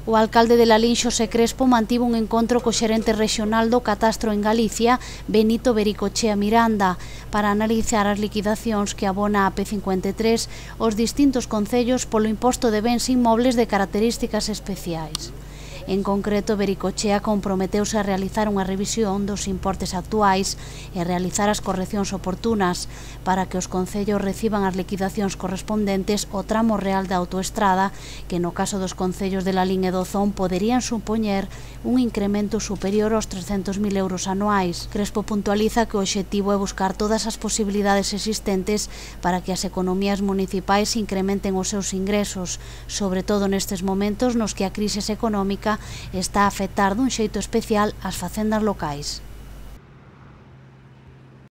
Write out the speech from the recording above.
O alcalde de Lalín, Xosé Crespo, mantivo un encontro co xerente rexional do Catastro en Galicia, Benito Vericochea Miranda, para analizar as liquidacións que abona a P53 os distintos concellos polo imposto de bens inmobles de características especiais. En concreto, Vericochea comprometeuse a realizar unha revisión dos importes actuais e realizar as correccións oportunas para que os concellos reciban as liquidacións correspondentes ao tramo real da autoestrada, que no caso dos concellos de Lalín e Dozón poderían supoñer un incremento superior aos 300.000 euros anuais. Crespo puntualiza que o obxectivo é buscar todas as posibilidades existentes para que as economías municipais incrementen os seus ingresos, sobre todo nestes momentos nos que a crise económica está a afectar dun xeito especial ás facendas locais.